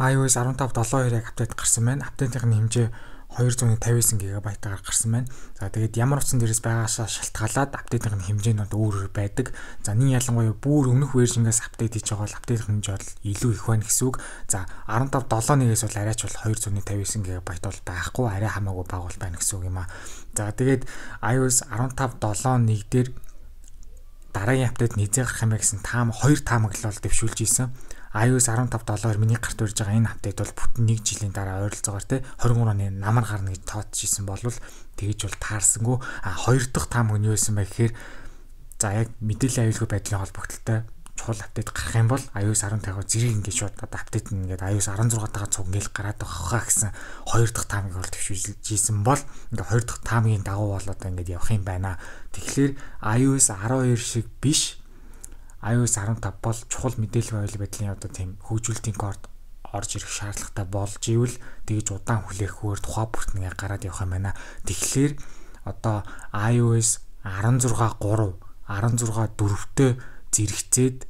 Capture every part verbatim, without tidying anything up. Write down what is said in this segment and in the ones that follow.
iOS арван тав долоо хоёрыг апдейт гарсан байна. Апдейтийн хэмжээ хоёр зуун тавьсан гигабайтаар гарсан байна. За тэгээд ямар утсан дээрээс байгаашаа шалтгаалаад апдейтийн хэмжээ нь өөр өөр байдаг. За нэг ялангуяа бүр өмнөх вершнгээс апдейт хийж байгаа бол апдейтийн хэмжээ бол илүү их байна гэсэн үг. За арван тав долоо нэгээс бол арайч бол хоёр зуун тавьсан гигабайт бол байхгүй, арай хамаагүй бага бол байна гэсэн үг юм аа. За тэгээд iOS арван тав долоо нэг дээр дараагийн апдейт низээ гарах юм гэсэн таам хоёр таамаг л бол дэвшүүлж ийсэн. iOS арван тав долоо миний гарт урьж байгаа энэ апдейт бол бүтэн нэг жилийн дараа ойролцоогоор те двадцать три оны намар гарна гэж тооцчихсан болвол тэгэж бол таарсангүй. А хоёр дахь таам нь юу байсан бэ гэхээр за яг мэдээллийн аюулгүй байдлын холбогдлолтой чухал апдейт гарах юм бол iOS арван тавь зэрэг ингээд шууд одоо апдейт нэгээд iOS арван зургаа тагаа цуг ингээл гараад байгаа гэсэн хоёр дахь таамыг бол төвшүүлж ийсэн бол ингээд хоёр дахь таамгийн дагуу бол одоо ингээд явах юм байна. Тэгэхээр iOS арван хоёр шиг биш iOS арван тав бол чухал мэдээлэл аюулгүй байдлын одоо тийм хөгжүүлэлтийн код орж ирэх шаардлагатай болж ивэл тэгж удаан хүлээхөөр тухай бүртнээ гараад явах юм байна. Тэгэхээр одоо iOS арван зургаа гурав, арван зургаа дөрөвтэй зэрэгцээд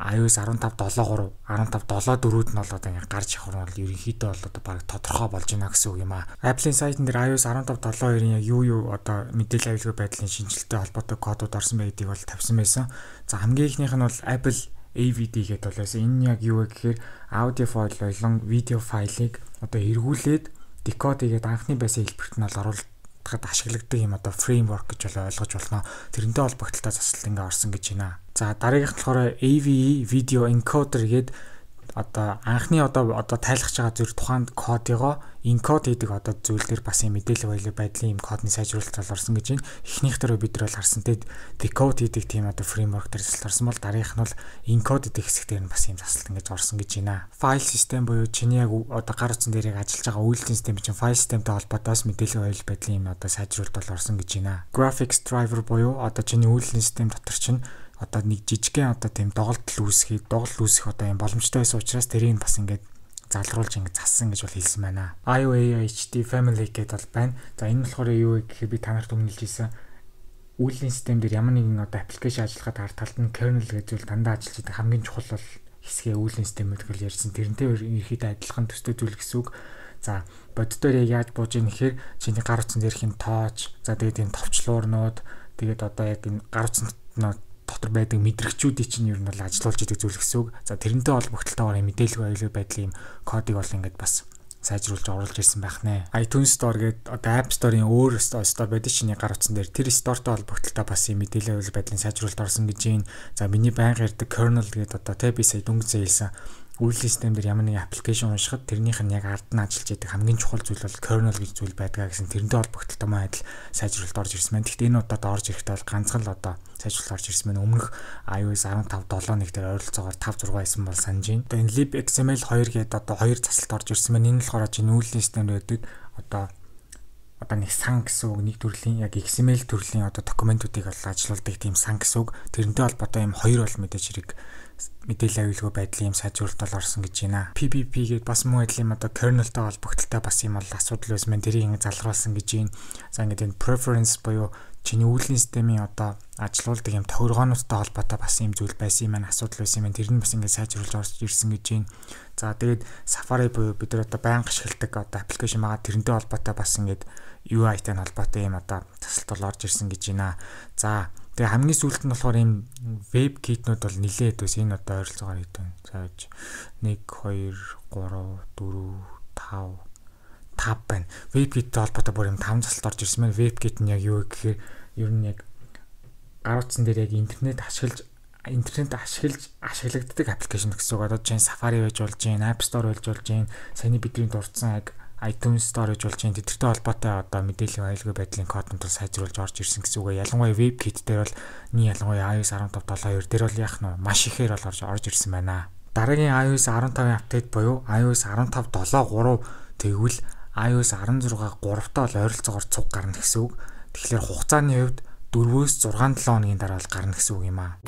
iOS арван тав долоо гурав, арван тав долоо дөрөвд нь бол одоо ингэ гарч явах нь бол ерөнхийдөө бол одоо баг тодорхой болж байна гэсэн үг юм аа. Apple-ийн сайтн дээр iOS арван тав долоо хоёрын яг юу юу одоо мэдээлэл аюулгүй байдлын шинжилгээтэй холбоотой кодууд орсон байдгийг бол тавьсан байсан. За хамгийн ихнийх нь бол Apple A V D гэдэг бол байсан. Энэ яг юу вэ гэхээр аудио файл болон видео файлыг одоо эргүүлээд декод хийгээд анхны байсан хэлбэрт нь бол оруулахад ашигладаг юм одоо фреймворк гэж бол ойлгож болно. Тэрнтэй холбогдлолтой засалт ингээ орсон гэж байна. За дараагийнх нь болохоор A V E Video Encoder гэдэг одоо анхны одоо одоо тайлахж байгаа зүйл тухайн кодыгоо энкод хийдэг одоо зүйл дээр бас юм мэдээлэл аюулгүй байдлын юм кодны сайжруулалт орсон гэж байна. Эхнийх дээр бид нар бол харсан те decode хийдэг тийм одоо фреймворк дээр засалт орсон бол дараагийнх нь бол энкод хийдэг хэсэг дээр нь бас юм засалт ингэж орсон гэж байна. Файл систем буюу чиний яг одоо гар утсан дээр яг ажиллаж байгаа үйлдвэрлэлийн систем чинь файл системтэй холбоотойс мэдээлэл аюулгүй байдлын юм одоо сайжруулалт бол орсон гэж байна. Graphics driver буюу одоо чиний үйлдвэрлэлийн систем дотор чинь одоо нэг жижигхэн одоо тийм доголдол үүсгэх, доголдол үүсгэх одоо юм боломжтой байсан учраас тэрийг бас ингээд залруулж ингээд зассан гэж бол хэлсэн байна. I O A H D family гэдэг бол байна. За энэ болохоор юу вэ гэхээр би та нарт өмнөлж хэлсэн үйлдвэрлэлийн систем дээр ямар нэгэн одоо аппликейшн ажиллахад ард талд нь kernel гэж зүйл дандаа ажиллаж байгаа хамгийн чухал бол хэсгээ үйлдвэрлэлийн системүүд гэж ярьсан. Тэрнтэй ерөнхийдөө адилхан төстэй зүйл гэсэн үг. За боддоор яаж бууж ийн гэхээр чиний гар утсан дээрх юм тооч, за тэгээд энэ товчлуурнууд, тэгээд одоо яг энэ гар утсан дотор байдаг мэдрэгчүүдийн чинь ер нь бол ажилуулж идэг зүйл гэсэн үг. За тэрнтэй холбогдлолтойгоор мэдээлэл аюулгүй байдлын кодыг бол ингээд бас сайжруулж оруулж ирсэн байх нэ. iTunes Store гэдэг одоо App Store-ийн өөр store байдаг чиний гар утсан дээр тэр store-той холбогдлолтой бас юм мэдээлэл аюулгүй байдлын сайжруулалт орсон гэж байна. За миний байнга ярьдаг kernel гэдэг одоо тэ би сая дүнгийн хэлсэн үйлдвэрлэлийн систем дээр ямар нэгэн аппликейшн уншихад тэрнийх нь яг ард нь ажиллаж байдаг хамгийн чухал зүйл бол kernel гэж зүйл байдгаа гэсэн тэрнтэй холбогдлолтой мөн адил сайжруулалт орж ирсэн байна. Гэхдээ энэ удаад орж ирэхдээ бол ганцхан л одоо сайжруулалт орж ирсэн байна. Өмнөх iOS арван тав долоо нэг дээр ойролцоогоор тавь зураг байсан бол санаж байна. Одоо энэ libxml хоёр гэдэг одоо хоёр засалт орж ирсэн байна. Энэ болохоор чинь үйлдвэрлэлийн системд байдаг одоо одоо нэг сан гэсэн үг, нэг төрлийн яг X M L төрлийн одоо документуудыг бол ажилуулдаг тийм сан гэсэн үг. Тэрнтэй холбоотой юм хоёр бол мэдээж хэрэг мэдээлэл аюулгүй байдлын юм сайжруулалт бол орсон гэж байна. P P P гэдэг бас мөн адил юм одоо kernel-тэй холбогдлолтой бас юм бол асуудал байсан байна. Тэрийг ингэ залруулсан гэж байна. За ингэ энэ preference буюу чиний үйлдвэрлэлийн системийн одоо ажилуулдаг юм тохиргоонуудтай холбоотой бас юм зүйл байсан юм байна. Асуудал байсан юм байна. Тэр нь бас ингэ сайжруулж орж ирсэн гэж байна. За тэгээд Safari буюу бид нар одоо байнга ашигладаг одоо аппликейшн байгаа тэрнтэй холбоотой бас ингэ U I-тай холбоотой юм одоо засалт бол орж ирсэн гэж байна. За тэгээ хамгийн сүүлд нь болохоор ийм веб китнүүд бол нилээд өс энэ одоо ойролцоогоор хэдэн зааж нэг хоёр гурав дөрөв тав тав байна. Веб киттэй холбоотой бүр юм таван засалт орж ирсэн байна. Веб кит нь яг юу гэхээр ер нь яг гар утсан дээр яг интернет ашиглаж интернет ашиглаж ашиглагддаг аппликейшн гэсэн үг. Одоо чинь Safari байж болж байна, App Store байж болж байна. Саяны бидний дурдсан яг iTunes Store гэж болж байна. Тэдэртэй холбоотой одоо мэдээлэл аюулгүй байдлын коднууд сайжруулж орж ирсэн гэсэн үг. Ялангуяа веб кит дээр бол нэг ялангуяа iOS арван тав долоо хоёр дээр бол яах нь маш ихээр бол орж орж ирсэн байна. Дараагийн iOS арван тавын апдейт буюу iOS арван тав долоо гурав тэгвэл iOS арван зургаа гуравтаа бол ойролцоогоор цуг гарна гэсэн үг. Тэгэхээр хугацааны хувьд дөрвөөс зургаан долоо хоногийн дараа бол гарна гэсэн үг юм аа.